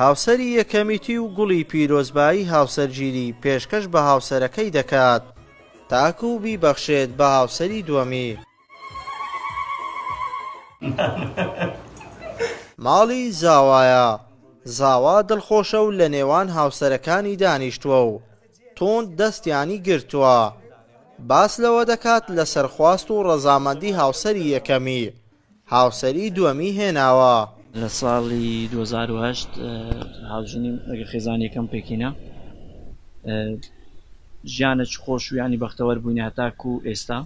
هاوسەری یەکەمیی و گوڵی پیرۆزبایی هاوسەرگیری پێشکەش بە هاوسەرەکەی دەکات تاکو بیبەخشێت بە هاوسەری دووەمی. ماڵی زاوایە، زاوا دڵخۆشە و لە نێوان هاوسەرەکانی دانیشتووە و توند دەستیانی گرتووە. باس لەوە دەکات لەسەر خواست و ڕەزامەندی هاوسەری یەکەمی، هاوسەری دووەمی هێناوە. لە ساڵی 2008 هاوژینیم لەگەڵ خێزانی یەکەم پێکهینا. ژیانێکی خۆش و یانی بەختەوەر بووینە هەتاکوو ئێستا.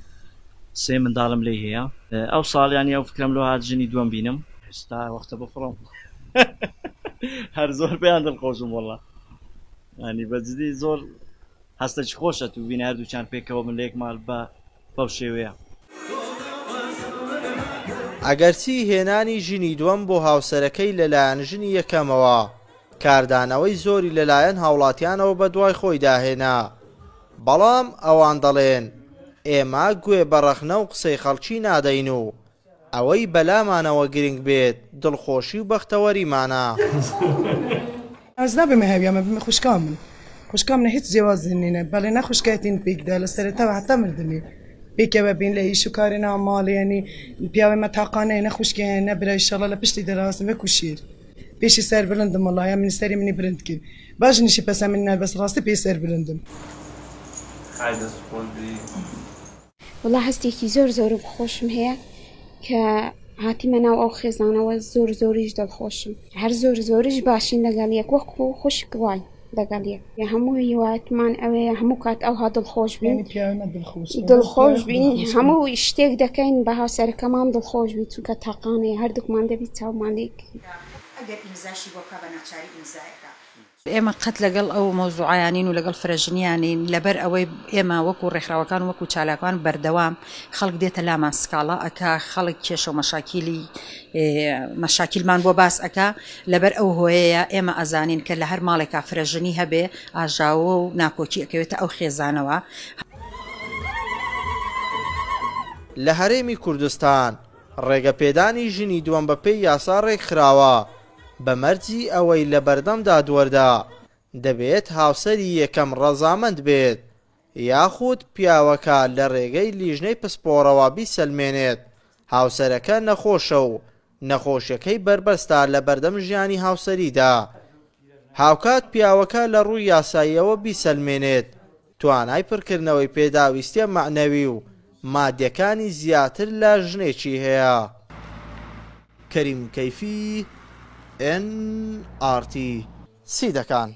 سێ منداڵم لێی هەیە. ئەو ساڵ یانی ئەو فکرەم لۆ هات ژنی دووەم بینم. ئێستا وەختە بفڕم هەر زۆر پێیان دڵخۆشم وەڵا. یانی بە جدی زۆر هەستەکی خۆشە تو بینی هەردووکیان پێکەوە بن لە یەک ماڵ بە بەو شێوەیە. ئەگەرچی هێنانی ژنی دووەم بۆ هاوسەرەکەی لەلایەن ژنی یەکەمەوە کاردانەوەی زۆری لەلایەن هاوڵاتیانەوە بەدوای خۆیدا هێنا، بەڵام ئەوان دەڵێن ئێمە گوێ بە ڕەخنە و قسەی خەڵکی نادەین و ئەوەی بەلامانەوە گرنگ بێت دڵخۆشی و بەختەوەریمانە. ئەز نابمە هەویا مە بمە خوشکا من خوشکا منە هیچ جیاوازی نینە بەڵێ نە خوشکایەتین پێکدا لە سەرەتاوە هەتا مردنی پێکەوە بین لە ئیش و کاری ناو ماڵ یعنی پیاوێ مە تاقانەیە نە خوشکێ هەیە نە برای ئیشەڵا لە پشتی دەراستم وەکو شیر پێشی سەر بلندم وەڵا یا منی سەری منی بلند کرد باش نیشی پەسە منی نار بەس ڕاستی پێی سەر بلندم. خای دەست خۆش بی. وەڵا هەستێکی زۆر زۆرم خۆشم هەیە کە هاتیمە ناو ئەو خێزانەوە زۆر زۆریش دڵخۆشم هەر زۆر زۆریش باشین لەگەڵ یەک وەکو خوشک واین لەگەڵ یەک هەموو هیوایەتمان ئەوەیە هەموو کات ئەوها دڵخۆش بین دڵخۆش بین هەموو شتێک دەکەین بە هاوسەرەکەمان دڵخۆش بین چونکە تاقانەیە هەردووکمان دەبی چاومان لێک ئەگەر ئیمزاشی بۆ بکا بە ناچاری ئیمزایەکا. ئێمە قەت لەگەڵ ئەو مەوزوعەیا نین و لەگەڵ فرەژنیا نین، لەبەر ئەوەی ئێمە وەکو ڕێکخراوەکان و وەکو چالاکوان بەردەوام خەڵک دێتە لامان سکاڵا ئەکا، خەڵک کێشە و مەشاکیلی مەشاکیلمان بۆ باس ئەکا، لەبەر ئەو هۆیەیە ئێمە ئەزانین کە لە هەر ماڵێکا فرەژنی هەبێ ئاژاوە و ناکۆکی ئەکەوێتە ئەو خێزانەوە. لە هەرێمی کوردستان ڕێگەپێدانی ژنی دووەم بەپێی یاسا ڕێکخراوە، بە مەرجی ئەوەی لە بەردەم دادوەردا دەبێت هاوسەری یەکەم ڕەزامەند بێت یاخود پیاوەکە لە ڕێگەی لیژنەی پسپۆڕەوە بیسەلمێنێت هاوسەرەکە نەخۆشە و نەخۆشیەکەی بەربەستە لە بەردەم ژیانی هاوسەریدا هاوکات پیاوەکە لە ڕووی یاساییەوە بیسەلمێنێت توانای پڕکردنەوەی پێداویستیە مەعنەوی و مادیەکانی زیاتر لە ژنێکی هەیە. کەریم کەیفی، ئێن ئاڕ تی، سیدەکان.